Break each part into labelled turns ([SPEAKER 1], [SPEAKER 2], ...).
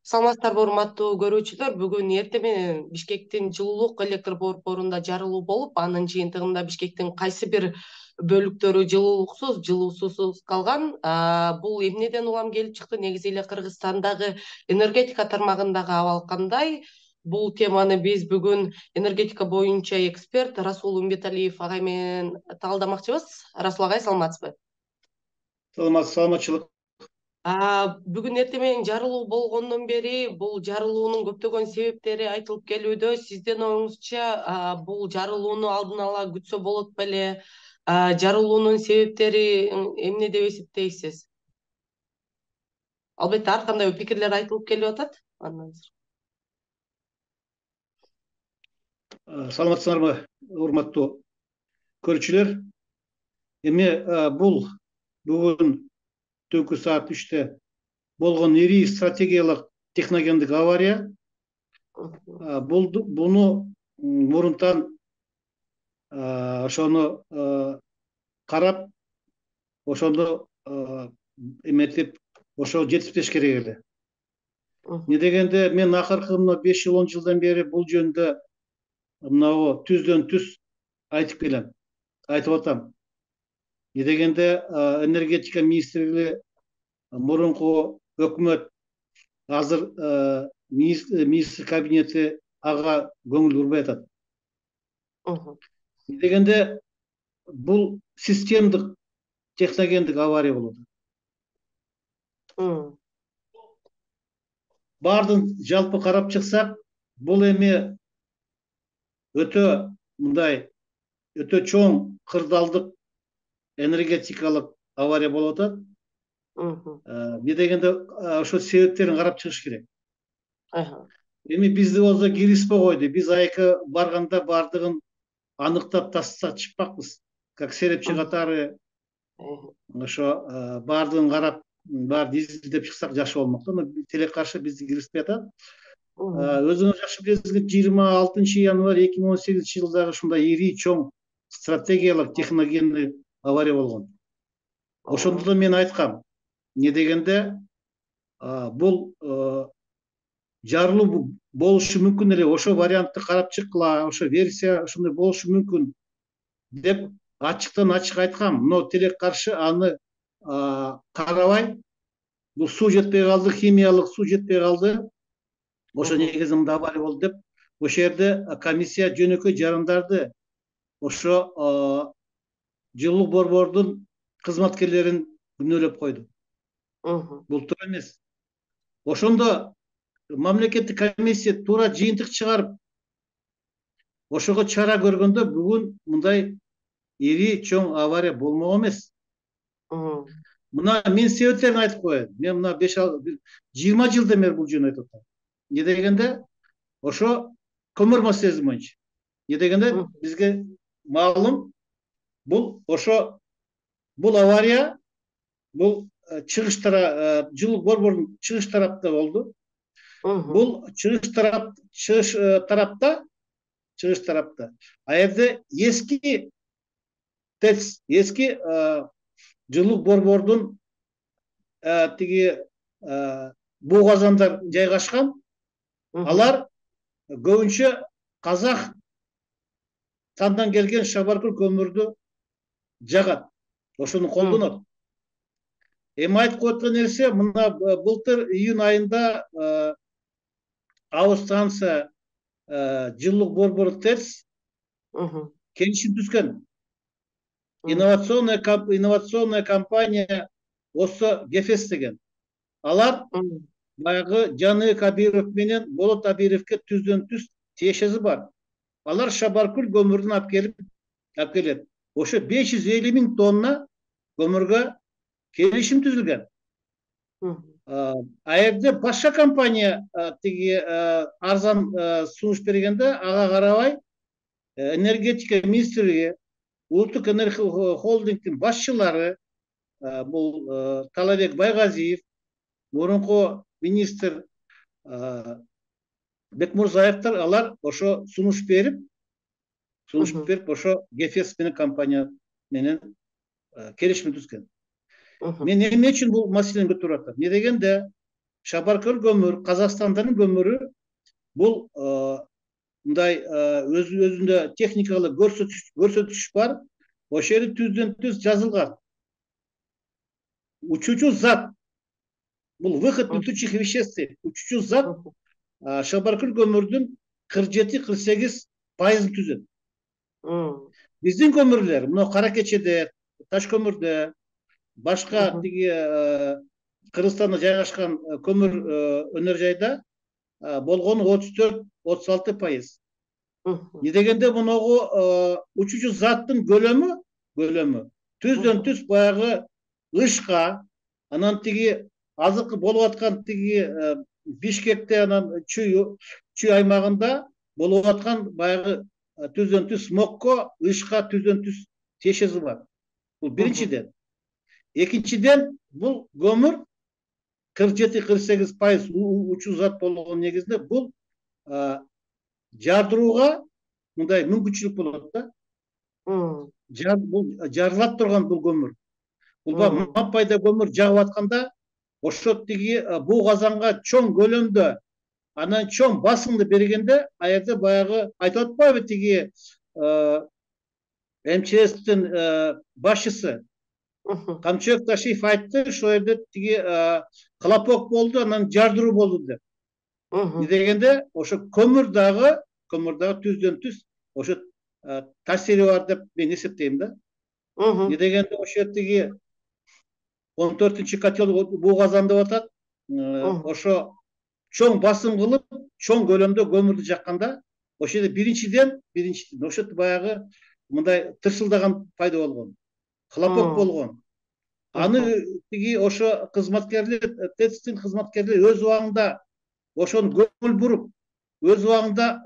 [SPEAKER 1] Саламатсыздарбы, урматтуу көрүүчүлөр. Бүгүн эртең менен Бишкектин жылуулук электр борборунда жарылуу болуп, анын жыйынтыгында Бишкектин кайсы бир бөлүктөрү жылуусуз калган. Бул эмнеден улам келип чыкты? Негизи эле Кыргызстандагы энергетика тармагындагы абал кандай? Бул теманы биз бүгүн энергетика боюнча эксперт Расул Умбеталиев агай менен талдамакчыбыз. Расул агай, саламатсызбы?
[SPEAKER 2] Саламатчылык.
[SPEAKER 1] Бүгүн эртең менен жарылуу болгондон бери бул жарылуунун көптөгөн себептери айтылып келүүдө. Сиздин оюңузча бул жарылууну алдын ала күтсө болот беле? Жарылуунун себептери эмне деп эсептейсиз? Албетте ар кандай пикирлер айтылып келип атат.
[SPEAKER 2] Саламатсыздарбы, урматтуу көрүүчүлөр. Эми бул бүгүн түнкү саат 3-те болгон ири стратегиялык техногендик авария. Буну мурунтан ошону карап, ошону эметип, ошо жетиштеш керек эле. Эмне дегенде мен акыркы 5-10 жылдан бери бул жөнүндө мынабу түздөн түз айтып келем, айтып атам. Эмне дегенде энергетика министрлиги, мурунку өкмөт, азыр министр кабинети ага көңүл бурбай атат. Эмне дегенде бул системдик техногендик авария болот. Бардын жалпы карап чыксак, бул эми өтө чоң кырдаалдык энергетикалык авария болуп атат. Эмне дегенде ошо себептерин карап чыгыш керек. Эми бизди болсо киргизбей койду. Биз айкы барганда бардыгын аныктап таштап чыкпакпыз. Как серепчи катары ошо бардыгын карап, баарын изилдеп чыксак жакшы болмок да. Тилекке каршы бизди киргизбей атат. Өзүңүз жакшы билесиңер, 26-январь 2018-жылдагы ушундай ири чоң стратегиялык техногендик авария болгон. Ошондо да мен айткам. Эмне дегенде бул жарылуу болушу мүмкүн эле, ошо вариантты карап чыккыла, ошо версия ошондой болушу мүмкүн деп ачыктан ачык айткам. Но тилекке каршы аны карабай, бул суу жетпей калды, химиялык суу жетпей калды. Ошо негизи мындай авария болду деп, ошол жерде комиссия жөнөкөй жарандарды, ошо жылуулук борбордун кызматкерлерин күнөөлөп койду. Бул туура эмес. Ошондо мамлекеттик комиссия туура жыйынтык чыгарып, ошого чара көргөндө бүгүн мындай ири чоң авария болмок эмес. Мына мен себептерин айтып коеюн. Мен мына 20 жылдан бери бул жөнүндө айтып атам. Эмне дегенде ошо көмүр маселеси боюнча. Эмне дегенде бизге маалым, бул авария бул чыгыш жылуулук борборунун чыгыш тарапта болду. Бул чыгыш тарапта. А жерде эски ТЭЦ, эски жылуулук борбордун тиги буу казандар жайгашкан. Алар көбүнчө казак тандан келген Шабаркөл көмүрдү жагат, ошону колдонот. Эми айтып коюлган нерсе, мына былтыр июнь айында Станция жылуулук борбору ТЭЦ келишим түзгөн. Инновационная компания ОСО ГЕФЕС деген. Алар баягы Жаны Кабиров менен Болот Абировке түздөн түз тиешеси бар. Алар Шабаркөл көмүрүн алып келет. Ошо 550 000 тонна көмүргө келишим түзүлгөн. А жерде башка компания тиги арзан сунуш бергенде, ага карабай энергетика министрлиги, Улуттук энергия холдингдин башчылары, бул Талабек Байгазиев, мурунку министр Бекмурзаевдер, алар ошо сунуш берип, ошо ГЕФЕС менен компания менен келишим түзгөн. Мен эмне үчүн бул маселени көтөрүп атам? Эмне дегенде Шабаркөл көмүр, Казакстандын көмүрү бул мындай өзүндө техникалык көрсөтүш бар. Ошол жерде түздөн түз жазылган. Учуучу зат, бул выход летучих веществ. Учуучу зат Шабаркөл көмүрдүн 47-48% түзөт. Биздин көмүрлөр, мына Кара Кечеде, Таш көмүрдө, башка тиги Кыргызстанда жайгашкан көмүр өнөр жайда болгону 34-36%. Не дегенде муногу учуучу заттын көлөмү түздөн түз баягы ышка, анан тиги азыркы болуп аткан тиги Бишкекте, анан Чүй аймагында болуп аткан баягы түздөн түз смогко, ышка түздөн түз тиешеси бар. Бул биринчиден. Экинчиден, бул көмүр 47-48% учуу зат болгон негизинде бул жардырууга мындай мүмкүнчүлүк болот да. Бул жарылат турган бул көмүр. Бул маппайда көмүр жагып атканда ошо тиги буу казанга чоң көлөмдө, анан чоң басымды бергенде, ал жерде баягы айтып атпайбы тиги МЧСтин башчысы Камчыбек Ташиев айтты, ошол жерде тиги хлопок болду, анан жардыруу болду деп. Не дегенде ошо көмүр дагы түздөн түз ошо таасири бар деп мен эсептейм да. Не дегенде ошо тиги 14-котел буу казан деп атат. Ошо чоң басым кылып, чоң көлөмдө көмүрдү жакканда, ошо жерде биринчиден ошо баягы мындай тырсылдаган пайда болгон. Хлопок болгон. Аны тиги ошо кызматкерлер, ТЭЦтин кызматкерлери өз убагында ошону көңүл буруп, өз убагында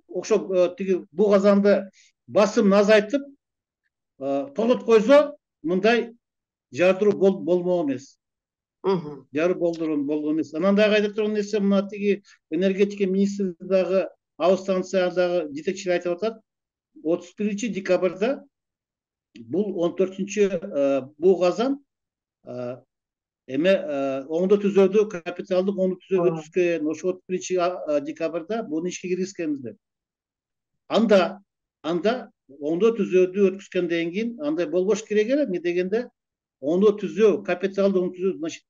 [SPEAKER 2] ошо тиги буу казанды басымын азайтып токтотуп койсо, мындай жардыруу болмок эмес. Жардыруу болгон эмес. Анан дагы айта турган нерсе, мына тиги энергетика министри дагы Абы станциядагы жетекчилер айтып атат, 31-декабрда бул 14-чү буу казан эме оңдо түзөөдө, капиталдык оңдо түзөөдө өткөзгөн. Ошо 31-декабрда буну ишке киргизгенбиз деп. Анда оңдо түзөөдү өткөзгөндөн кийин андай болбош керек эле. Эмне дегенде оңдо түзөө, капиталдык оңдо түзөө, значит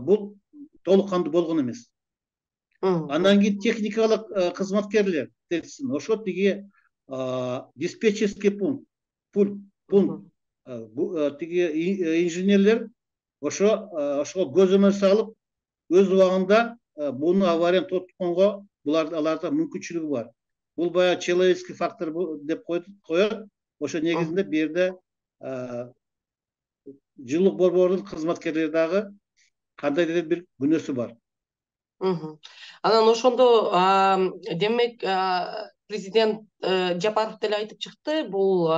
[SPEAKER 2] бул толук кандуу болгон эмес. Андан кийин техникалык кызматкерлер, ошо тиги диспетчерский пункт, тиги инженерлер ошого көзөмөл салып, өз убагында буну аварияны токтотконго аларда мүмкүнчүлүгү бар. Бул баягы человеческий фактор деп коет. Ошо негизинде бу жерде жылуулук борборунун кызматкерлери дагы кандайдыр бир күнөөсү бар.
[SPEAKER 1] Анан ошондо демек президент Жапаров деле айтып чыкты, бул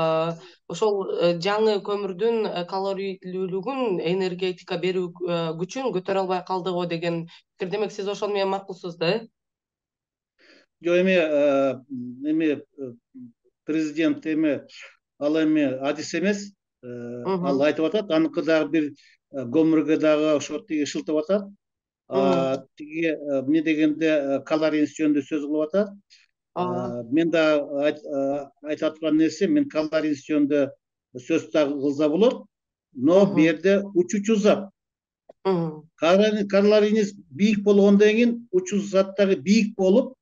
[SPEAKER 1] ошол жаңы көмүрдүн калорийлүүлүгүн, энергетика берүү күчүн көтөрө албай калды го деген пикир. Демек сиз ошону менен макулсуз да, э?
[SPEAKER 2] Жок, эми президент ал адис эмес. Ал айтып атат, аныкы дагы бир көмүргө дагы ошо тиги шылтып атат. Тиги эмне дегенде калорийность жөнүндө сөз кылып атат. Мен дагы айта турган нерсе, мен калорийность жөнүндө сөз дагы кылса болот, но бу жерде учуучу зат. Калорийность бийик болгондон кийин учуучу зат дагы бийик болуп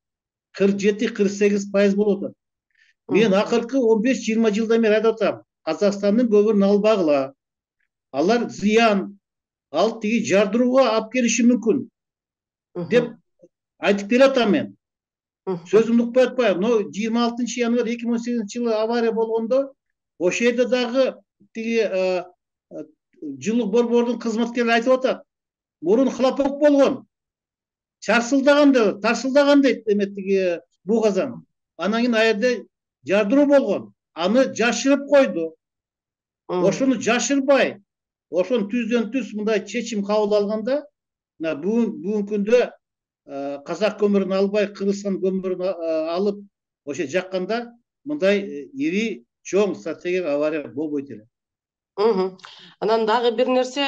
[SPEAKER 2] 47-48% болуп атат. Мен акыркы 15-20 жылдан бери айтып атам, Казакстандын көмүрүн албагыла. Алар зыян, ал тиги жардырууга алып келиши мүмкүн деп айтып келатам мен. Сөзүмдү укпай атпайбы? Но 26-январь 2018-жылы авария болгондо ошол жерде дагы тиги жылуулук борборунун кызматкерлери айтып атат. Мурун хлопок болгон. Тарсылдаган дейт тиги буу казан. Анан кийин ал жерде жардыруу болгон. Аны жашырып койду. Ошону жашырбай, ошону түздөн түз мындай чечим кабыл алганда, бүгүнкү күндө казак көмүрүн албай, Кыргызстан көмүрүн алып, ошо жакканда мындай ири чоң стратегиялык авария болбойт эле.
[SPEAKER 1] Анан дагы бир нерсе,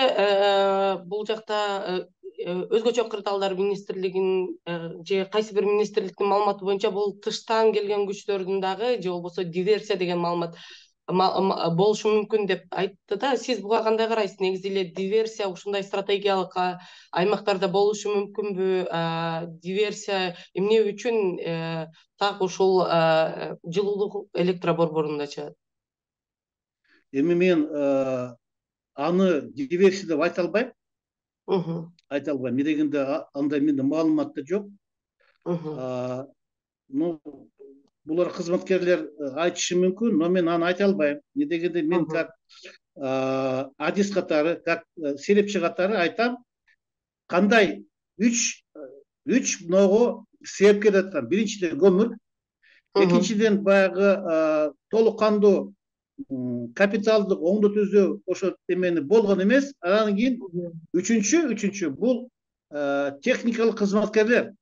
[SPEAKER 1] бул жакта өзгөчө кырдаалдар министрлигинин же кайсы бир министрликтин маалыматы боюнча бул тыштан келген күчтөрдүн дагы же болбосо диверсия деген маалымат болушу мүмкүн деп айтты да. Сиз буга кандай карайсыз? Негизи эле диверсия ушундай стратегиялык аймактарда болушу мүмкүнбү? Диверсия эмне үчүн так ушул жылуулук электр борборунда чыгат?
[SPEAKER 2] Эми мен аны диверсия деп айта албайм. Эмне дегенде андай менде маалымат да жок. Ну, булар кызматкерлер айтышы мүмкүн, но мен аны айта албайм. Эмне дегенде мен как адис катары, как серепчи катары айтам, кандай үч мыного себепкер деп атам. Биринчиден көмүр, экинчиден баягы толук кандуу капиталдык оңдо түзөө ошо эмени болгон эмес. Анан кийин үчүнчү бул техникалык кызматкерлер.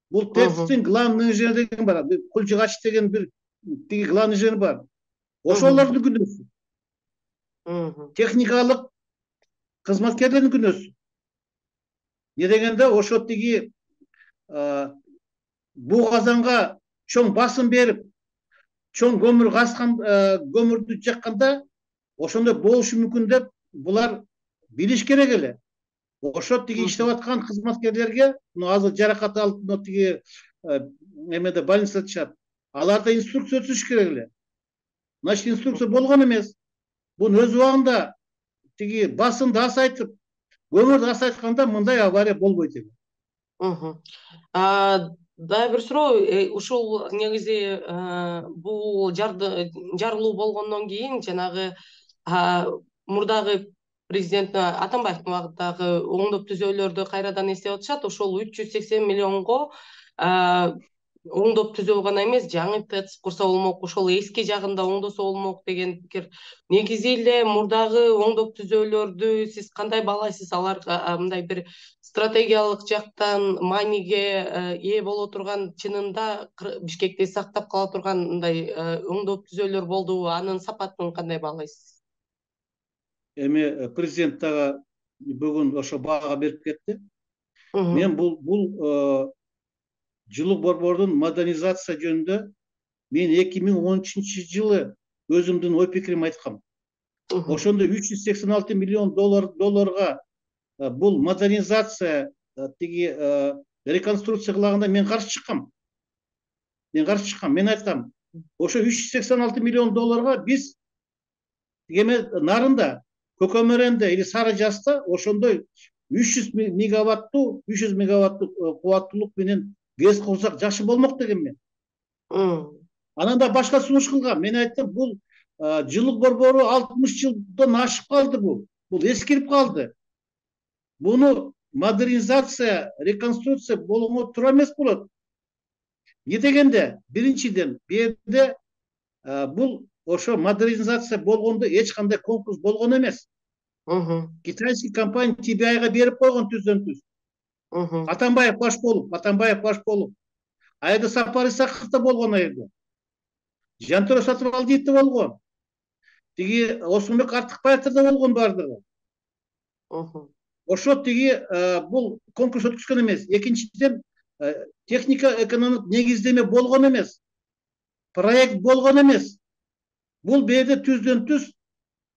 [SPEAKER 2] Бул ТЭЦтин главный инженер деген бар, Кулжыгач деген бир тиги главный инженер бар. Ошолордун күнөөсү. Техникалык кызматкерлердин күнөөсү. Эмне дегенде ошо тиги буу казанга чоң басым берип, чоң көмүр каскан, көмүрдү жакканда ошондой болушу мүмкүн деп булар билиш керек эле. Ошо тиги иштеп аткан кызматкерлерге, азыр жаракат алып тиги эмеде больницада жатышат. Аларда инструкция түзүш керек эле. Значит, инструкция болгон эмес. Бунун өз убагында тиги басымды асайтып, көмүрдү асайтканда мындай авария болбойт экен.
[SPEAKER 1] Дагы бир суроо, ушул негизи бул жарылуу болгондон кийин жанагы мурдагы президент Атамбаевдин убагындагы оңдоп түзөөлөрдү кайрадан эстеп атышат. Ошол 380 миллионго оңдоп түзөө гана эмес, жаңы ТЭЦ курса болмок, ошол эски жагын да оңдосо болмок деген пикир. Негизи эле мурдагы оңдоп түзөөлөрдү сиз кандай баалайсыз? Алар мындай бир стратегиялык жактан мааниге ээ боло турган, чынында Бишкекти сактап кала турган мындай оңдоп түзөөлөр болдубу? Анын сапатын кандай баалайсыз?
[SPEAKER 2] Эми президент дагы бүгүн ошо баага берип кетти. Мен бул жылуу борбордун модернизация жөнүндө мен 2013 жылы өзүмдүн ой пикиримди айткам. Ошондо 386 миллион долларга бул модернизация тиги реконструкция кылаганда мен каршы чыккам. Мен айткам, ошо 386 миллион долларга биз эме нарында, Көкөмөрөндө или Сары Жазда ошондой 300 мегаваттуу кубаттуулук менен ГЭС курсак жакшы болмок деген мен. Анан да башка сунуш кылгам. Мен айттым, бул жылуу борбору 60 жылдан ашып калды бул. Бул эскирип калды. Буну модернизация, реконструкция болгондо тура эмес болот. Эмне дегенде, биринчиден, бу жерде бул ошо модернизация болгондо эч кандай конкурс болгон эмес. Китайский компания TBI-га берип койгон түздөн-түз. Атамбаев баш болуп. Айда Сапар Исаков да болгон айда. Жантөре Сатыбалдиев да болгон. Тиги Осмонбек Артыкбаевдер да болгон бардыгы. Ошо тиги бул конкурс өткүзгөн эмес. Экинчиден, техника экономик негиздеме болгон эмес. Проект болгон эмес. Бул берде түздөн-түз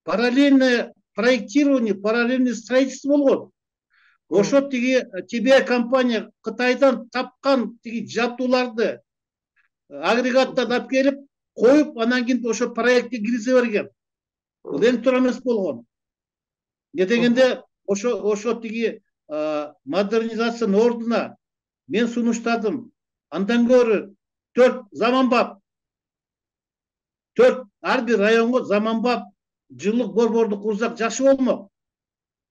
[SPEAKER 2] параллельное проектирование, параллельное строительство болгон. Ошо тиги TBI компания Кытайдан тапкан тиги жабдууларды агрегаттан алып келип коюп, анан кийин ошо проектке киргизе берген. Бул эң туура эмес болгон. Эмне дегенде ошо тиги модернизациянын ордуна мен сунуштадым. Андан көрө 4 заманбап, 4 ар бир районго заманбап жылуу борборду курсак жакшы болмок.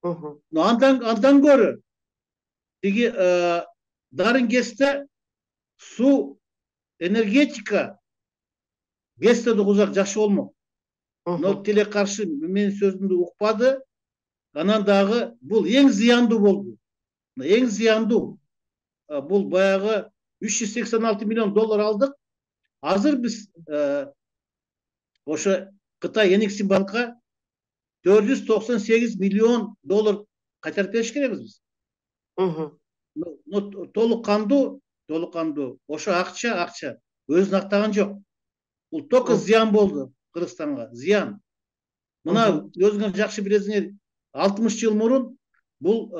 [SPEAKER 2] Но андан көрө тиги Дарын ГЭСте суу энергетика ГЭСте курсак жакшы болмок. Но тиле каршы менин сөзүмдү укпады. Анан дагы бул эң зыяндуу болду. Эң зыяндуу бул баягы 386 миллион доллар алдык. Азыр биз ошо Кытай Энергосбанкка $498 миллион кайтарып бериш керекпиз биз. Толук кандуу ошо акча өзүн актаган жок. Бул только зыян болду Кыргызстанга, зыян. Мына өзүңөр жакшы билесиңер, 60 жыл мурун бул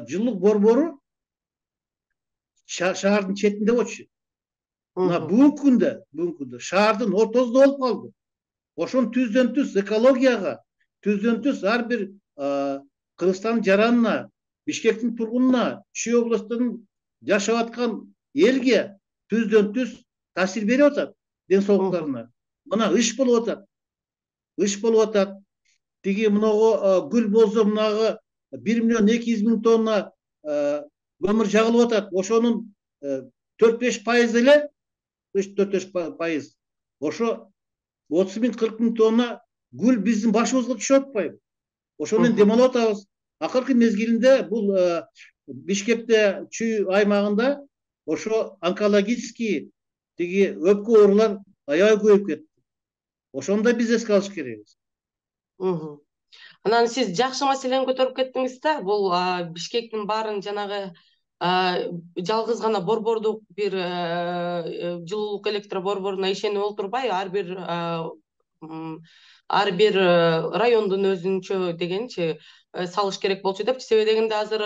[SPEAKER 2] жылуулук борбору шаардын четинде болчу. Мына бүгүнкү күндө шаардын ортосунда болуп калды. Ошону түздөн түз экологияга, түздөн түз ар бир Кыргызстандын жаранына, Бишкектин тургунуна, Чүй областынын жашап аткан элге түздөн түз таасир берип атат ден соолуктарына. Мына иш болуп атат. Тиги мынагу гүл болсо мынагы 1 миллион 200 миң тонна көмүр жагылып атат. Ошонун 4-5% эле, 4-5%. Ошо 30 миң 40 миң тонна гүл биздин башыбызга түшүп атпайбы? Ошону дем алып атабыз. Акыркы мезгилинде бул Бишкекте, Чүй аймагында ошо онкологический тиги өпкө оорулар аябай көбөйүп кетти. Ошону да биз эске алыш керекбиз.
[SPEAKER 1] Анан сиз жакшы маселени көтөрүп кеттиңиз да, бул Бишкектин баарын жанагы жалгыз гана борбордук бир жылуулук электр борборуна ишенип олтурбай, ар бир райондун өзүнчө дегенчи салыш керек болчу депчи. Себеби дегенде азыр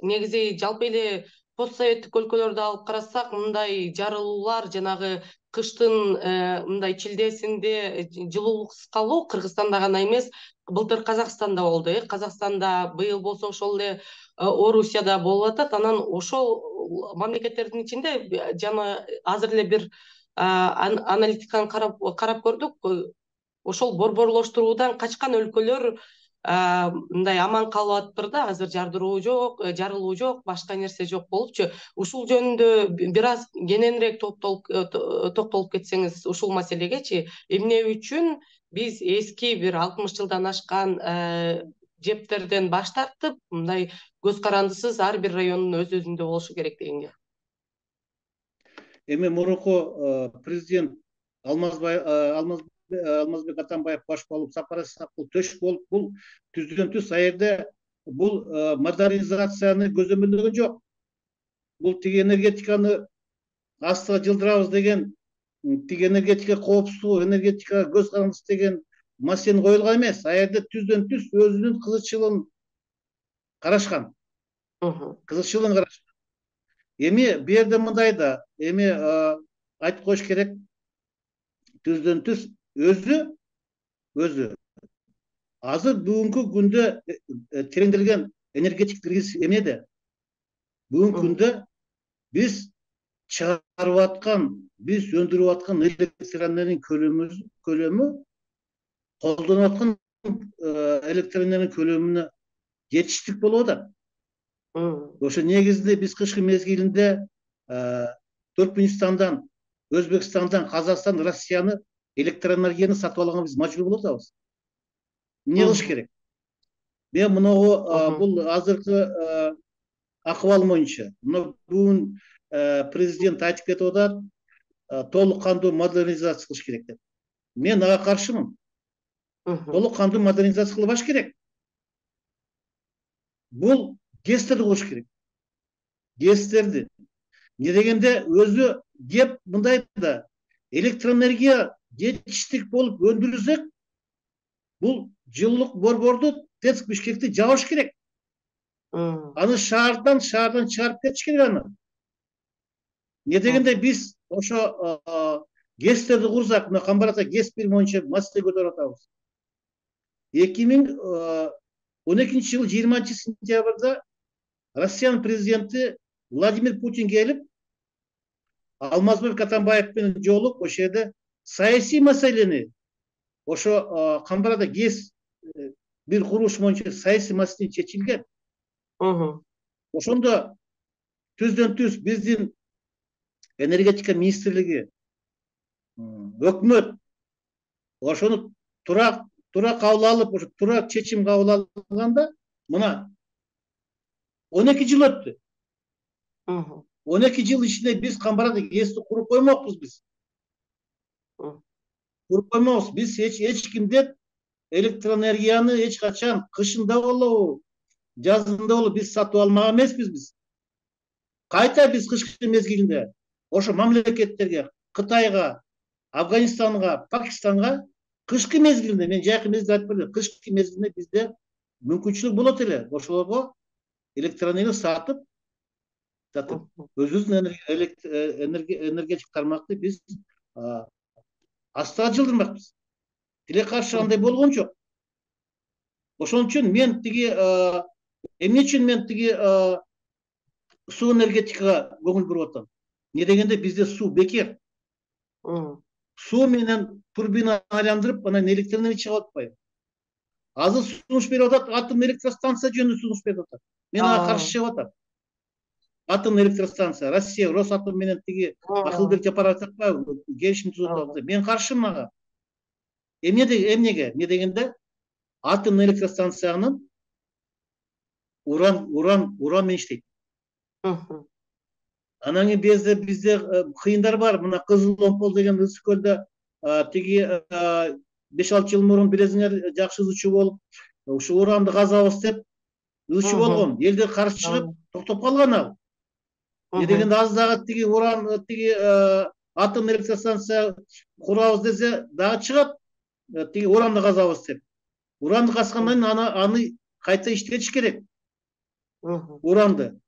[SPEAKER 1] негизи жалпы эле постсоветтик өлкөлөрдү алып карасак, мындай жарылуулар жанагы кыштын мындай чилдесинде жылуулуксуз калуу Кыргызстанда гана эмес, былтыр Казакстанда болду. Казакстанда быйыл болсо ошол эле Орусияда болуп атат. Анан ошол мамлекеттердин ичинде жана азыр эле бир аналитиканы карап көрдүк. Ошол борборлоштуруудан качкан өлкөлөр мындай аман калып атыптыр да. Азыр жардыруу жок, жарылуу жок, башка нерсе жок болупчу. Ушул жөнүндө бир аз кененирээк токтолуп кетсеңиз ушул маселегечи, эмне үчүн биз эски бир 60 жылдан ашкан жептерден баш тартып, мындай көз карандысыз ар бир райондун өз өзүндө болушу керек дегенге.
[SPEAKER 2] Эми мурунку президент Алмазбек Атамбаев баш болуп, Сапар Исаков төш болуп, бул түздөн түз аерде бул модернизацияны көзөмөлдөгөн жок. Бул тиги энергетиканы астыга жылдырабыз деген, тиги энергетика коопсуздугу, энергетикага көз карандысыз деген маселени коюлган эмес. Аерде түздөн түз өзүнүн кызыкчылыгын карашкан. Эми бу жерде мындай да, эми айтып коюш керек, түздөн түз өзү азыр бүгүнкү күндө тереңделген энергетик кризис эмнеде? Бүгүнкү күндө биз чыгарып аткан, биз өндүрүп аткан электроэнергиянын көлөмү колдонуп аткан электроэнергиянын көлөмүнө жетиштик болуп атат. Ошо негизинде биз кышкы мезгилинде Түркмөнстандан, Өзбекстандан, Казакстан, Россияны электроэнергияны сатып алганга биз мажбур болуп атабыз. Эмне кылыш керек? Мен мынагу бул азыркы акыбал боюнча, мына бүгүн президент айтып кетип атат, толук кандуу модернизация кылыш керек деп. Мен ага каршымын. Толук кандуу модернизация кылбаш керек. Бул ГЭСтерди куруш керек. ГЭСтерди. Не дегенде өзү кеп мындай да электроэнергия жетиштик болуп өндүрүлсөк, бул жылуулук борборду ТЭЦ Бишкекти жабыш керек. Аны шаардан чыгарып кетиш керек аны. Не дегенде биз ошо ГЭСтерди курсак, мына Камбарата ГЭС-1 боюнча маселе көтөрүп атабыз. 2012 жылы 20 сентябрда Россиянын президенти Владимир Путин келип, Алмазбек Атамбаев менен жолугуп, ошол жерде саясий маселени, ошо Камбарада ГЭС бир курулуш боюнча саясий маселе чечилген. Ошондо түздөн түз биздин энергетика министрлиги, өкмөт ошону туура кабыл алып, ошо туура чечим кабыл алганда, мына 12 жыл өттү. 12 жыл ичинде биз Камбарада ГЭСти куруп коймокпуз биз. Куруп коймокпуз. Биз эч кимден электроэнергияны эч качан кышында болобу, жазында болобу биз сатып алмаган эмеспиз биз. Кайта биз кышкы мезгилинде ошо мамлекеттерге, Кытайга, Афганистанга, Пакистанга кышкы мезгилинде, мен жайкы мезгилде айтып бердим, кышкы мезгилинде бизде мүмкүнчүлүк болот эле ошолорго электроэнергия сатып өзүбүздүн энергетик тармакты биз астына жылдырмакпыз. Тиле каршы андай болгон жок. Ошон үчүн мен тиги эмне үчүн мен тиги суу энергетикага көңүл буруп атам? Не дегенде бизде суу бекер. Суу менен турбина айландырып, анан электроэнергия чыгып атпайбы? Азыр сунуш берип атат, атом электростанция жөнүндө сунуш берип атат. Мен ага каршы чыгып атам. Атом электростанция, Россия, Росатом менен тиги акыл бир жапар атпайбы? Келишим түзүп атат. Мен каршымын ага. Эмнеге? Не дегенде атом электростанциянын уран менен иштейт. Анан кийин бизде кыйындар бар. Мына Кызыл Омпол деген Ысык көлдө тиги 5-6 жыл мурун билесиңер, жакшы ызычуу болуп, ушу уранды казабыз деп ызычуу болгон. Элдер каршы чыгып токтоп калган ал. Не дегенде азыр дагы тиги уран тиги атом электростанция курабыз десе дагы чыгат тиги уранды казабыз деп. Уранды казгандан кийин аны кайта иштетиш керек. Уранды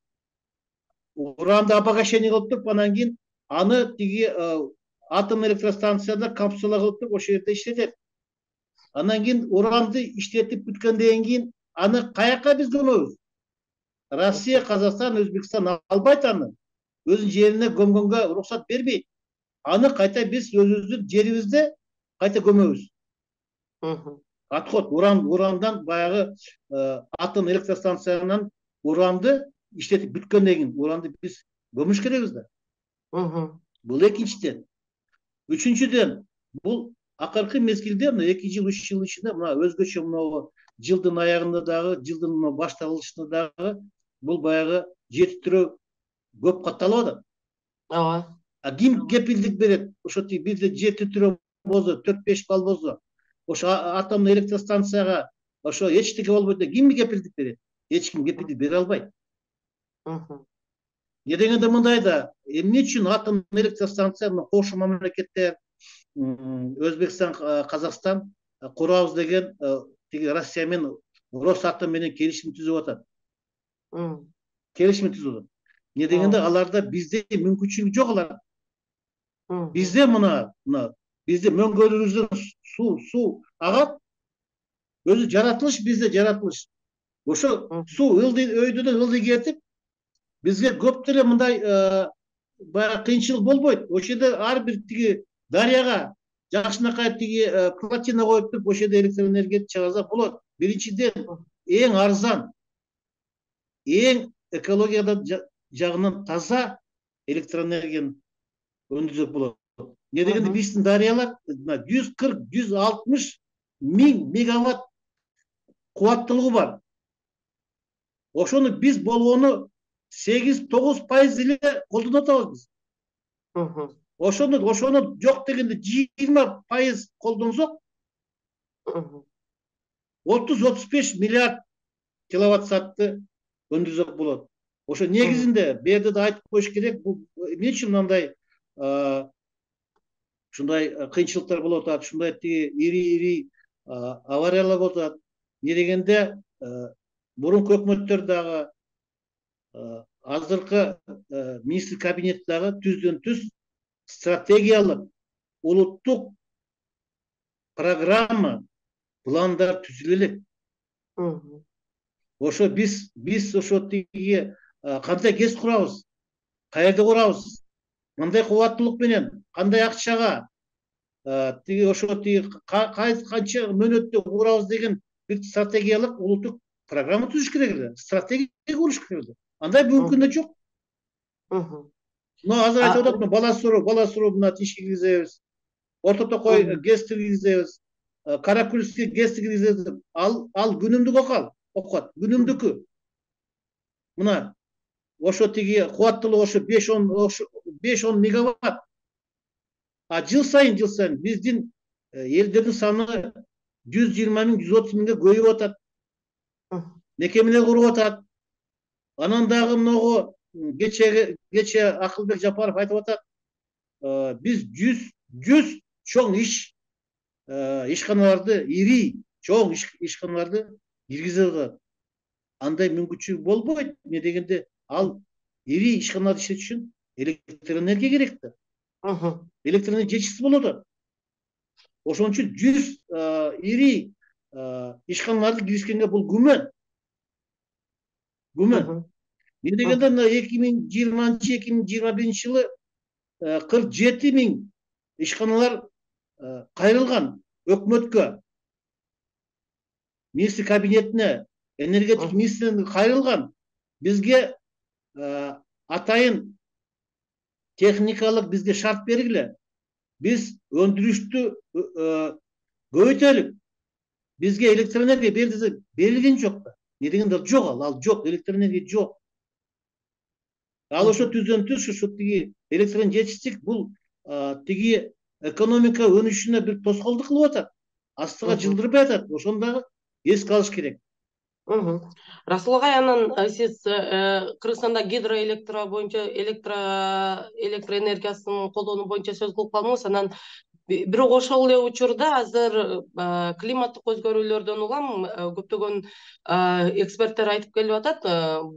[SPEAKER 2] обогащение кылып туруп, анан кийин аны тиги атом электростанцияда капсула кылып туруп ошол жерде иштетет. Анан кийин уранды иштетип бүткөндөн кийин аны каяка биз көмөбүз? Россия, Казакстан, Өзбекстан албайт аны. Өзүнүн жерине көмгөнгө уруксат бербейт. Аны кайта биз өзүбүздүн жерибизде кайта көмөбүз. Отход урандан баягы атом электростанциянан уранды иштетип бүткөндөн кийин уранды биз көмүш керекпиз да. Бул экинчиден. Үчүнчүдөн, бул акыркы мезгилде, 2 жыл, 3 жыл ичинде мына өзгөчө мына жылдын аягында дагы, жылдын башталышында дагы бул баягы жетиштирүү көп катталып атат. Ооба. Ким кепилдик берет? Ошо бизде жетиштирүү болсо, 4-5 балл болсо, ошо атомдук электростанцияга ошо эчтеке болбойт деп ким кепилдик берет? Эч ким кепилдик бере албайт. Не дегенде мындай да, эмне үчүн атом электростанция кошмо мамлекеттер Өзбекстан, Казакстан курабыз деген тиги Россия менен Росатом менен келишим түзүп атат. Келишим түзүп атат. Не дегенде аларда бизде мүмкүнчүлүк жок алар. Бизде мына бизде мөңгөлүбүздөн суу агат. Өзү жаратылыш, бизде жаратылыш. Ошо суу өйдөдөн ылдый кетип, бизге көп деле мындай баягы кыйынчылык болбойт. Ошол жерде ар бир тиги дарыяга жакшынакай тиги плотина коюп туруп, ошол жерде электроэнергия чыгарса болот. Биринчиден эң арзан, эң экологияда жагынан таза электроэнергияны өндүрсөк болот. Не дегенде биздин дарыялар 140-160 миң мегаватт кубаттуулугу бар. Ошону биз болгону 8-9% эле колдонуп атабыз биз. Ошону жок дегенде 20% колдонсок 30-35 миллиард киловатт саатты өндүрсөк болот. Ошо негизинде бу жерде да айтып коюш керек, бул эмне үчүн мындай ушундай кыйынчылыктар болуп атат, ушундай тиги ири авариялар болуп атат. Не дегенде мурунку өкмөттөр дагы азыркы министр кабинет дагы түздөн түз стратегиялык улуттук программа, пландар түзүлө элек. Ошо биз ошо тиги кандай КЭС курабыз, каерде курабыз, кандай кубаттуулук менен, кандай акчага, тиги ошо тиги канча мөөнөттө курабыз деген бир стратегиялык улуттук программа түзүш керек эле, стратегия куруш керек эле. Андай мүмкүн да жок. Азыр айтып атат, бала суроо мына ишке киргизебиз, Орто Токой КЭСти киргизебиз, Каракүлскү КЭСти киргизебиз. Ал күнүмдүк окуат, күнүмдүкү. Мына ошо тиги кубаттуулугу ошо 5-10 мегаватт. Жыл сайын биздин элдердин саны 120 миң, 130 миңге көбөйүп атат. Мекемелер куруп атат. Анан дагы могу кече Акылбек Жапаров айтып атат. Биз 100 чоң ишканаларды, ири чоң ишканаларды киргизип атат. Андай мүмкүнчүлүк болбойт. Эмне дегенде ал ири ишканаларды иштетиш үчүн электр энергия керек да. Электр энергия жетишсиз болуп атат. Ошон үчүн 100 ири ишканаларды киргизгенге бул күмөн. Эмне дегенде 2020-2021 жылы 47 миң ишканалар кайрылган өкмөткө, министр кабинетине, энергетика министрлигине кайрылган. Бизге атайын техникалык бизге шарт бергиле. Биз өндүрүштү көбөйтөлүк. Бизге электр энергия бер десе берилген жок да. Эмне дегенде жок, ал жок, электр энергия жок. Ал ошо түздөн-түз ушу тиги электр энергия жетишсиздик бул тиги экономика өнүшүнө бир тоскоолдук кылып атат. Астыга жылдырбай атат. Ошону дагы эске алыш керек.
[SPEAKER 1] Расул агай, анан сиз Кыргызстанда гидроэлектро боюнча электр энергиясын колдонуу боюнча сөз кылып калдыңыз. Анан бирок ошол эле учурда азыр климаттык өзгөрүүлөрдөн улам көптөгөн эксперттер айтып келип атат.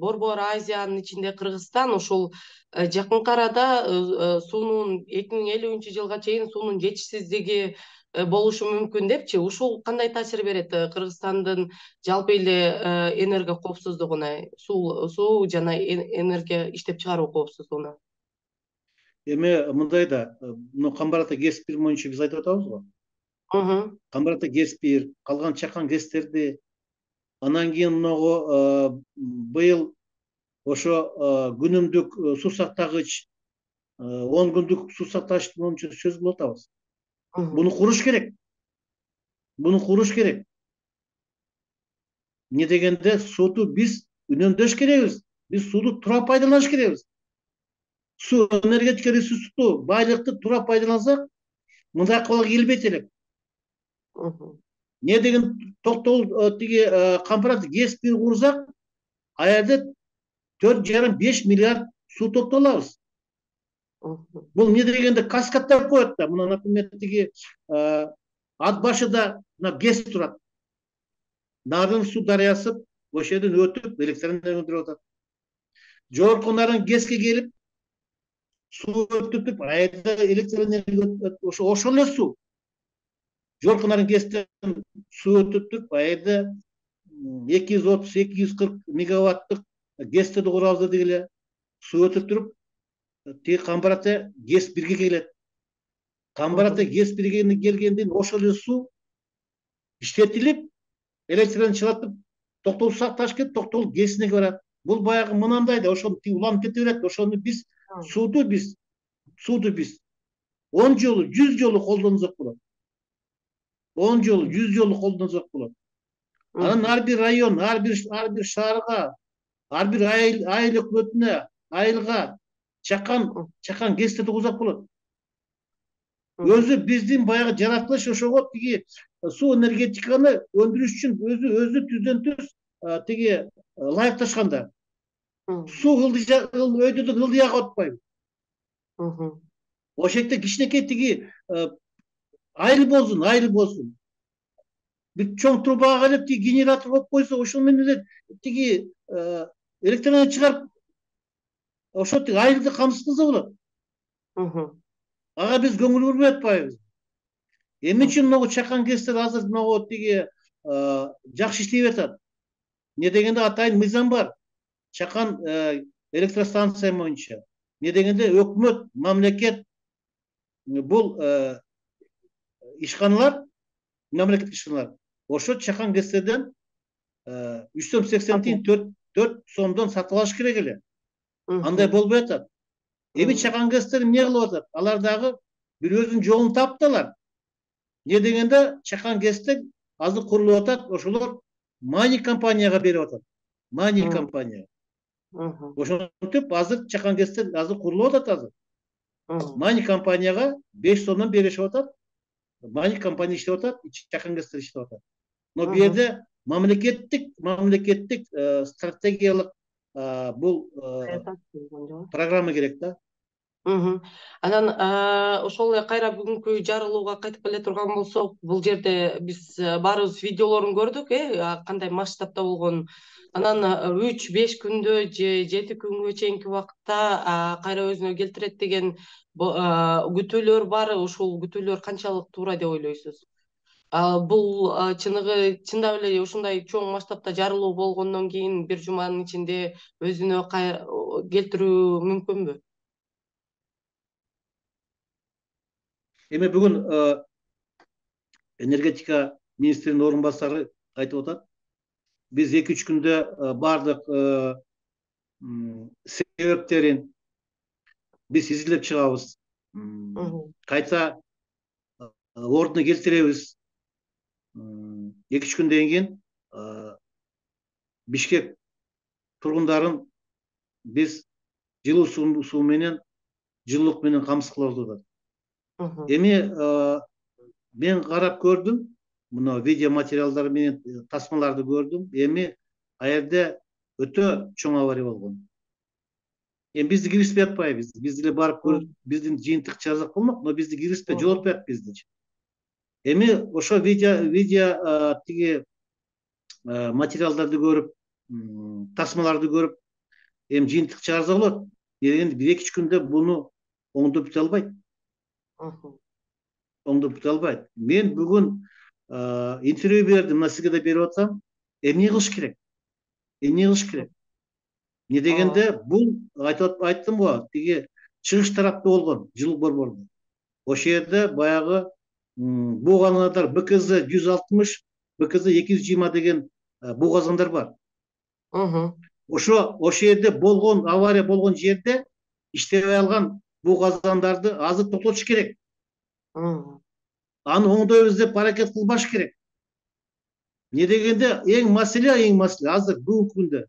[SPEAKER 1] Борбор Азиянын ичинде Кыргызстан ушул жакынкы арада суунун 2050 жылга чейин суунун жетишсиздиги болушу мүмкүн депчи. Ушул кандай таасир берет Кыргызстандын жалпы эле энергия коопсуздугуна, суу жана энергия иштеп чыгаруу коопсуздугуна?
[SPEAKER 2] Эми мындай да, Камбар ата ГЭС 1 боюнча биз айтып атабыз го. Камбар ата ГЭС 1, калган чакан ГЭСтерди, анан кийин могу быйыл ошо күнүмдүк суу сактагыч, 10 күндүк суу сактагыч боюнча сөз кылып атабыз. Буну куруш керек. Эмне дегенде сууну биз үнөмдөш керекбиз. Биз сууну туура пайдаланыш керекбиз. Суу энергетика ресурсту, байлыкты туура пайдалансак, мындай акыбалга келбейт элек. Эмне деген токтогул тиги Камбар ата ГЭС 1 курсак, ал жерде 4,5 миллиард суу топтоп алабыз. Бул эмне дегенде каскадтап коет да. Мына, например, тиги ат башыда ГЭС турат. Нарын суу дарыясы ошол жерден өтүп электр энергия өндүрүп атат. Жогорку Нарын ГЭСке келип суу өтүп, айда электр энергия ошол эле суу. Жогорку Нарын ГЭСтен суу өтүп, айда 230-240 мегаваттык ГЭСтерди курабыз дегиле. Суу өтүп туруп, тиги Камбар ата ГЭС 1ге келет. Камбар ата ГЭС 1ге келгенден ошол эле суу иштетилип, электр энергия чыгатып, токтогул сакташ кетип, токтогул ГЭСине барат. Бул баягы мынандай да, ошону уланып кете берет. Ошону биз сууду биз 10 жолу, 100 жолу колдонсок болот. 10 жолу, 100 жолу колдонсок болот. Анан ар бир район, ар бир шаарга, ар бир айыл өкмөтүнө, айылга чакан ГЭСтерди курсак болот. Өзү биздин баягы жаратылыш ошого тиги суу энергетиканы өндүрүш үчүн өзү түздөн-түз тиги ылайыкташканда. Суу өйдөдөн ылдыяга өтпөйбү. Ошол жерде кичинекей тиги айыл болсун. Бир чоң трубага келип тиги генератор коюп койсо, ошол менен тиги электр энергия чыгарып, ошо тиги айылды камсыз кылса болот. Ага биз көңүл бурбай атпайбызбы? Эмне үчүн могу чакан ГЭСтер азыр могу тиги жакшы иштей атат? Эмне дегенде атайын мыйзам бар. Чакан электростанция боюнча. Эмне дегенде өкмөт, мамлекет бул ишканалар, мамлекеттик ишканалар ошо чакан ГЭСтерден 380 тиын 4 сомдон сатып алыш керек эле. Андай болбой атат. Эми чакан ГЭСтер эмне кылып атат? Алар дагы бир өзүнүн жолун таптылар. Эмне дегенде чакан ГЭСтер азыр курулуп атат, ошолор Мани компанияга берип атат. Мани компания. Ошентип азыр чакан ГЭСтер азыр курулуп атат азыр. Мани компанияга 5 сомдон беришип атат. маник компания иштеп атат, чакан ГЭСтер иштеп атат. Но бул жерде мамлекеттик стратегиялык бул программа керек да.
[SPEAKER 1] Анан ошол эле кайра бүгүнкү жарылууга кайтып келе турган болсок, бул жерде биз баарыбыз видеолорун көрдүк, кандай масштабта болгонун. Анан 3-5 күндө же 7 күнгө чейинки убакытта кайра өзүнө келтирет деген күтүүлөр бар. Ушул күтүүлөр канчалык туура деп ойлойсуз? Бул чындап эле ушундай чоң масштабта жарылуу болгондон кийин бир жуманын ичинде өзүнө келтирүү мүмкүнбү?
[SPEAKER 2] Эми бүгүн энергетика министринин орун басары айтып атат. Биз 2-3 күндө бардык себептерин биз изилдеп чыгабыз. Кайта ордуна келтиребиз. 2-3 күндөн кийин Бишкек тургундарын биз жылуу суу менен, жылуулук менен камсыз кылабыз деп атат. Эми мен карап көрдүм, мына видео материалдар менен тасмаларды көрдүм. Эми ал жерде өтө чоң авария болгон. Эми бизди киргизбей атпайбыз. Биз деле барып көрүп, биздин жыйынтык чыгарсак болмок, но бизди киргизбей жолотпой атат биздичи. Эми ошо видео тиги материалдарды көрүп, тасмаларды көрүп, эми жыйынтык чыгарса болот. Дегенде 1-2 күндө буну оңдоп бүтө албайт. Мен бүгүн интервью бердим, мына сизге да берип атам. Эмне кылыш керек? Не дегенде бул айттым го, тиги чыгыш тарапта болгон, жылуу борборунда. Ошол жерде баягы буу казандар БКЗ 160, БКЗ 220 деген буу казандар бар. Ошо жерде болгон авария болгон жерде иштебей алган буу казандарды азыр токтотуш керек. Аны оңдойбуз деп аракет кылбаш керек. Не дегенде эң маселе азыр бүгүнкү күндө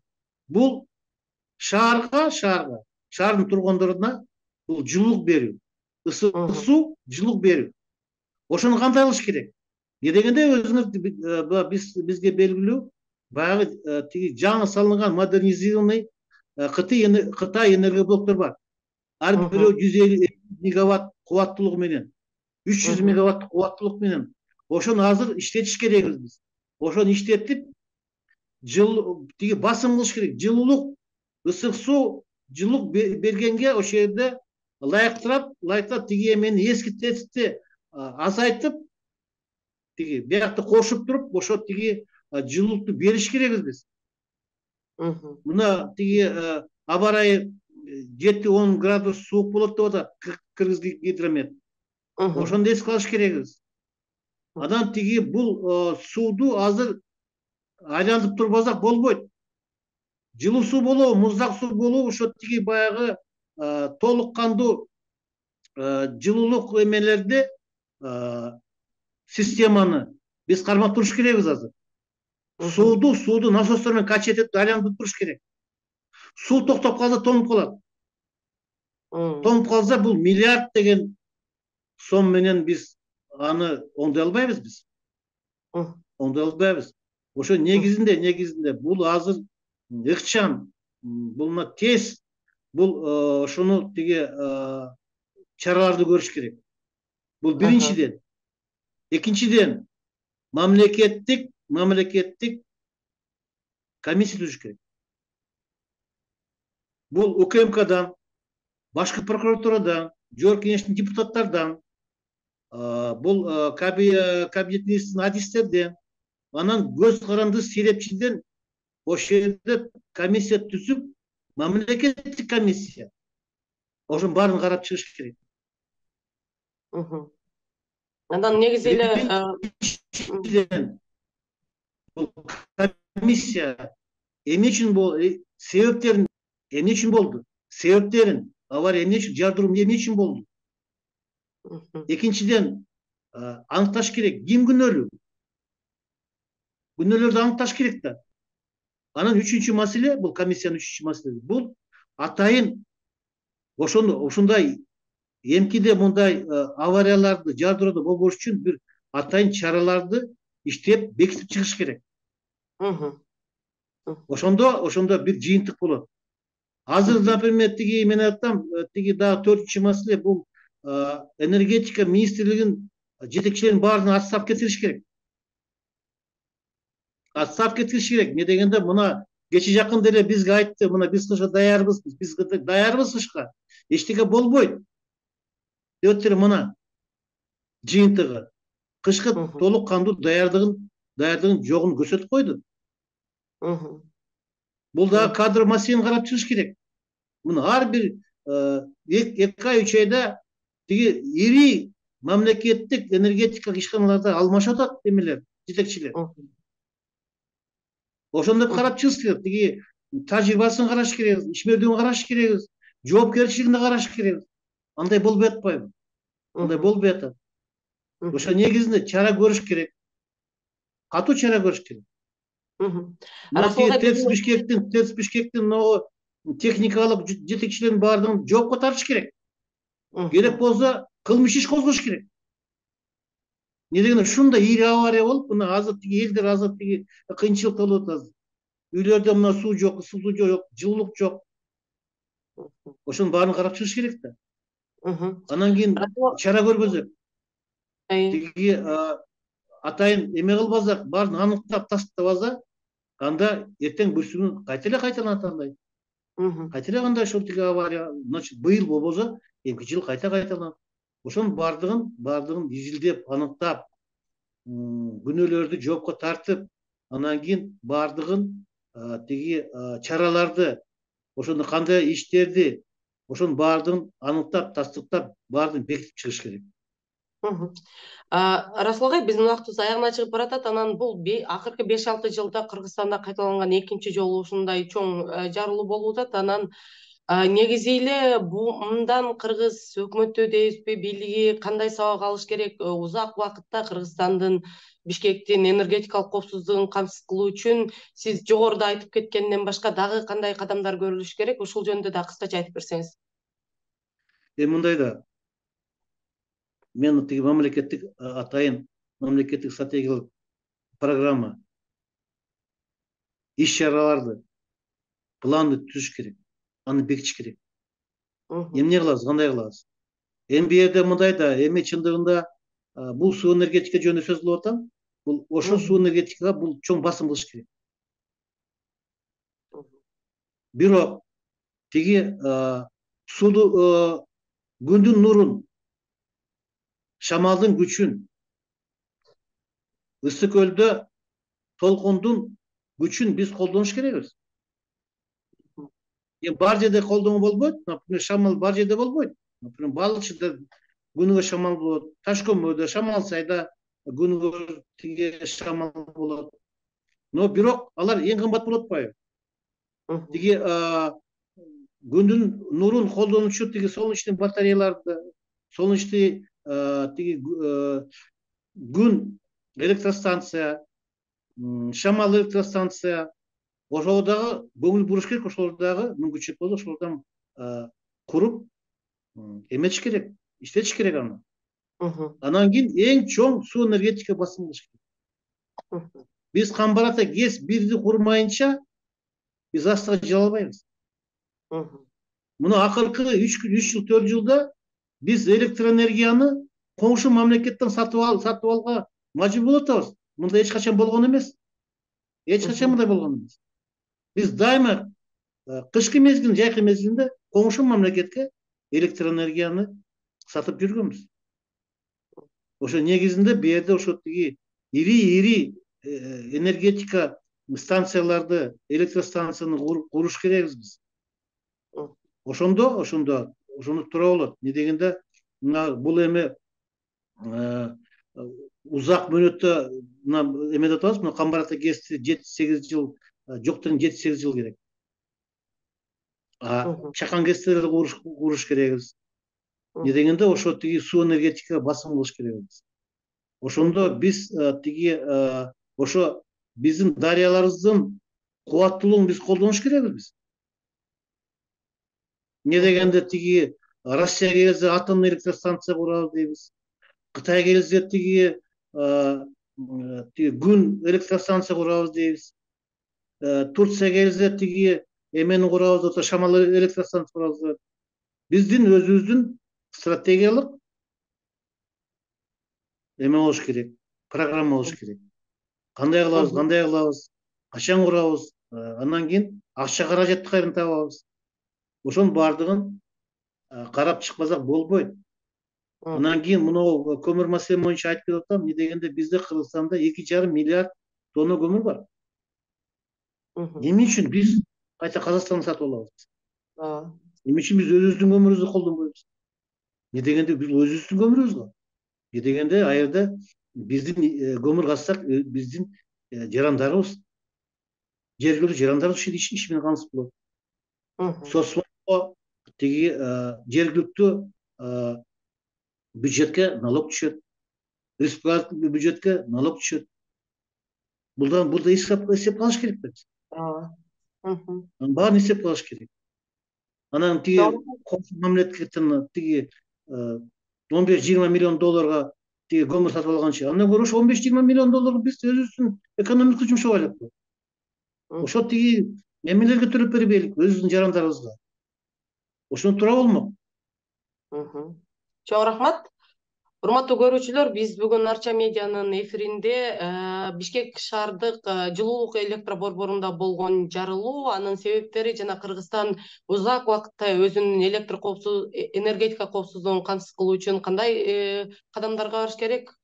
[SPEAKER 2] бул шаардын тургундоруна бул жылуулук берүү, ысык суу, жылуулук берүү. Ошону кандай кылыш керек? Не дегенде өзүңүз бизге белгилүү, баягы тиги жаңы салынган модернизированный Кытай энергоблоктор бар. Ар бирөө 150 мегаватт кубаттуулугу менен, 300 мегаватт кубаттуулук менен. Ошону азыр иштетиш керекбиз биз. Ошону иштетип, тиги басым кылыш керек. Жылуулук, ысык суу, жылуулук бергенге ошол жерде ылайыктап тиги эмени эски тетикти азайтып, тиги биякты кошуп туруп, ошо тиги жылуулукту бериш керекбиз биз. Мына тиги аба ырайы 7-10 градус суук болот деп атат Кыргыз гидромет. Ошону эске алыш керекбиз. Анан тиги бул сууду азыр айлантып турбасак болбойт. Жылуу суу болобу, муздак суу болобу, ошо тиги баягы толук кандуу жылуулук эмелерди системаны биз кармап туруш керекбиз азыр. Сууду насостор менен качать этип айлантып туруш керек. Суу токтоп калса тонуп калат. Тонуп калса бул миллиард деген сом менен биз аны оңдой албайбыз биз. Ошо негизинде бул азыр ыкчам, бул тез, бул ошону тиги чараларды көрүш керек. Бул биринчиден. Экинчиден, мамлекеттик комиссия түзүш керек. Бул УКМКдан, башкы прокуратурадан, жогорку кеңештин депутаттардан, бул кабинет министринин адистерден, анан көз каранды серепчиден ошол жерде комиссия түзүп, мамлекеттик комиссия ошонун баарын карап чыгыш керек.
[SPEAKER 1] Андан негизи эле
[SPEAKER 2] бул комиссия эмне үчүн себептерин эмне үчүн болду? Себептерин, авария эмне үчүн, жардыруу эмне үчүн болду? Экинчиден, аныкташ керек, ким күнөөлүү? Күнөөлөрдү аныкташ керек да. Анан үчүнчү маселе, бул комиссиянын үчүнчү маселеси, бул атайын ошондой эмкиде мындай аварияларды жардырууду болбош үчүн бир атайын чараларды иштеп бекитип чыгыш керек. Ошондо бир жыйынтык болот. Азыр, например, тиги мен айтсам, тиги дагы төртүнчү маселе бул энергетика министрлигинин жетекчилерин баарына отставка кетириш керек. Отставка кетириш керек. Эмне дегенде мына кечээ жакында эле бизге айтты, мына биз кышка даярбыз, биз даярбыз кышка. Эчтеке болбойт. Деп атыр мына жыйынтыгы. Кышкы толук кандуу даярдыгын жогун көрсөтүп койду. Бул дагы кадр маселени карап чыгыш керек. Мына ар бир 2 ай 3 айда тиги ири мамлекеттик энергетикалык ишканаларда алмашып атат эмелер, жетекчилер. Ошондо карап чыгыш керек. Тиги тажрыйбасын караш керекбиз, ишмердигин караш керекбиз, жоопкерчилигин караш керекбиз. Андай болбой атпайбы? Андай болбой атат. Ошо негизинде чара көрүш керек. Катуу чара көрүш керек. ТЭЦ Бишкектин могу техникалык жетекчилерин баардыгын жоопко тартыш керек. Керек болсо кылмыш иш козгош керек. Эмне дегенде ушундай ири авария болуп, мына азыр тиги элдер азыр тиги кыйынчылыкта болуп атат азыр. Үйлөрдө мына суу жок, ысытуу жок, жылуулук жок. Ошонун баарын карап чыгыш керек да. Анан кийин чара көргөзөк. Тиги атайын эме кылбасак, баарын аныктап тастабаса, анда эртең бүрсүгүн кайта эле кайталанат андай. Кайта эле кандай ошол тиги авария, значит, быйыл болбосо, эмки жыл кайта кайталанат. Ошонун баардыгын изилдеп, аныктап, күнөөлөрдү жоопко тартып, анан кийин баардыгын тиги чараларды, ошондо кандай иштерди, ошонун баардыгын аныктап, тастыктап, баарын бекитип чыгыш керек.
[SPEAKER 1] Расул агай, биздин убактыбыз аягына чыгып баратат. Анан бул акыркы 5-6 жылда Кыргызстанда кайталанган экинчи жолу ушундай чоң жарылуу болуп атат. Анан негизи эле мындан кыргыз өкмөтү дейбизби, бийлиги кандай сабак алыш керек? Узак убакытта Кыргызстандын, Бишкектин энергетикалык коопсуздугун камсыз кылуу үчүн сиз жогоруда айтып кеткенден башка дагы кандай кадамдар көрүлүш керек? Ушул жөнүндө да кыскача айтып берсеңиз.
[SPEAKER 2] Мындай да, мен тиги мамлекеттик атайын мамлекеттик стратегиялык программа, иш чараларды, планды түзүш керек, аны бекитиш керек. Эмне кылабыз, кандай кылабыз? Бу жерде мындай да, эми чындыгында бул суу энергетика жөнүндө сөз кылып атам. Бул ошол суу энергетикага бул чоң басым кылыш керек. Бирок тиги сууду, күндүн нурун, шамалдын күчүн, ысык көлдө толкундун күчүн биз колдонуш керекпиз. Бар жерде колдонуу болбойт. Например, шамал бар жерде болбойт. Например, балыкчыда күнүгө шамал болот, таш көмөрдө, Шамал сайда күнүгө тиги шамал болот. Но бирок алар эң кымбат болуп атпайбы? Тиги күндүн нурун колдонуучу тиги солнечный батареяларды, солнечный тиги күн электростанция, шамал электростанция, ошого дагы көңүл буруш керек, ошолор дагы мүмкүнчүлүк болсо ошолордон куруп эметиш керек, иштетиш керек аны. Анан кийин эң чоң суу энергетика басым кылыш керек. Биз Камбарата ГЭС 1-ди курмайынча биз астыга жыла албайбыз. Мына акыркы 3 жыл 4 жылда биз электроэнергияны коңшу мамлекеттен сатып алга мажбур болуп атабыз. Мындай эч качан болгон эмес. Эч качан мындай болгон эмес. Биз дайыма кышкы мезгил, жайкы мезгилинде коңшу мамлекетке электроэнергияны сатып жүргөнбүз. Ошо негизинде бу жерде ошо тиги ири энергетика станцияларды, электростанцияны куруш керекбиз биз. Ошондо туура болот. Эмне дегенде мына бул эме узак мөөнөттө мына эме деп атабыз, мына Камбарата ГЭСти 7-8 жыл, жоктон 7-8 жыл керек. Чакан ГЭСтерди куруш керекбиз. Эмне дегенде ошо тиги суу энергетикага басым кылыш керекбиз. Ошондо биз тиги ошо биздин дарыяларыбыздын кубаттуулугун биз колдонуш керекбиз биз. Эмне дегенде тиги Россия келсе атомный электростанция курабыз дейбиз. Кытай келсе тиги күн электростанция курабыз дейбиз. Турция келсе тиги эмени курабыз деп атат, шамал электростанция курабыз деп атат. Биздин өзүбүздүн стратегиялык эме болуш керек, программа болуш керек. Кандай кылабыз, качан курабыз, андан кийин акча каражатты кайдан табабыз. Ошонун баардыгын карап чыкпасак болбойт. Андан кийин мына көмүр маселе боюнча айтып кетип атам. Эмне дегенде бизде Кыргызстанда 2,5 миллиард тонна көмүр бар. Эмне үчүн биз кайта Казакстандан сатып алабыз? Эмне үчүн биз өзүбүздүн көмүрүбүздү колдонбойбуз? Эмне дегенде биз өзүбүздүн көмүрүбүз го. Эмне дегенде ал жерде биздин көмүр казсак биздин жарандарыбыз, жергиликтүү жарандарыбыз иш менен камсыз болот. Соцфондго тиги жергиликтүү бюджетке налог түшөт, республикалык бюджетке налог түшөт. Burada эсеп кылыш керек да. Баарын эсеп кылыш керек. Анан тиги мамлекеттен тиги 15-20 миллион долларга тиги көмүр сатып алганчы, андан көрө ошо 15-20 миллион долларга биз өзүбүздүн экономикага жумшап алайлык. Ошо тиги эмелерге төлөп бербейлик, өзүбүздүн жарандарыбызга. Ошону туура болмок.
[SPEAKER 1] Чоң рахмат. Урматтуу көрүүчүлөр, биз бүгүн Арча медианын эфиринде Бишкек шаардык жылуулук электр борборунда болгон жарылуу, анын себептери жана Кыргызстан узак убакытта өзүнүн энергетика коопсуздугун камсыз кылуу үчүн кандай кадамдарга барыш керек?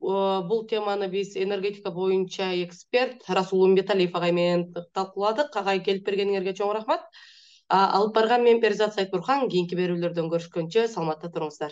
[SPEAKER 1] Бул теманы биз энергетика боюнча эксперт Расул Умбеталиев агай менен талкууладык. Агай, келип бергениңерге чоң рахмат. Алып барган мен Перизат Сайтбурхан. Кийинки берүүлөрдөн көрүшкөнчө саламатта туруңуздар.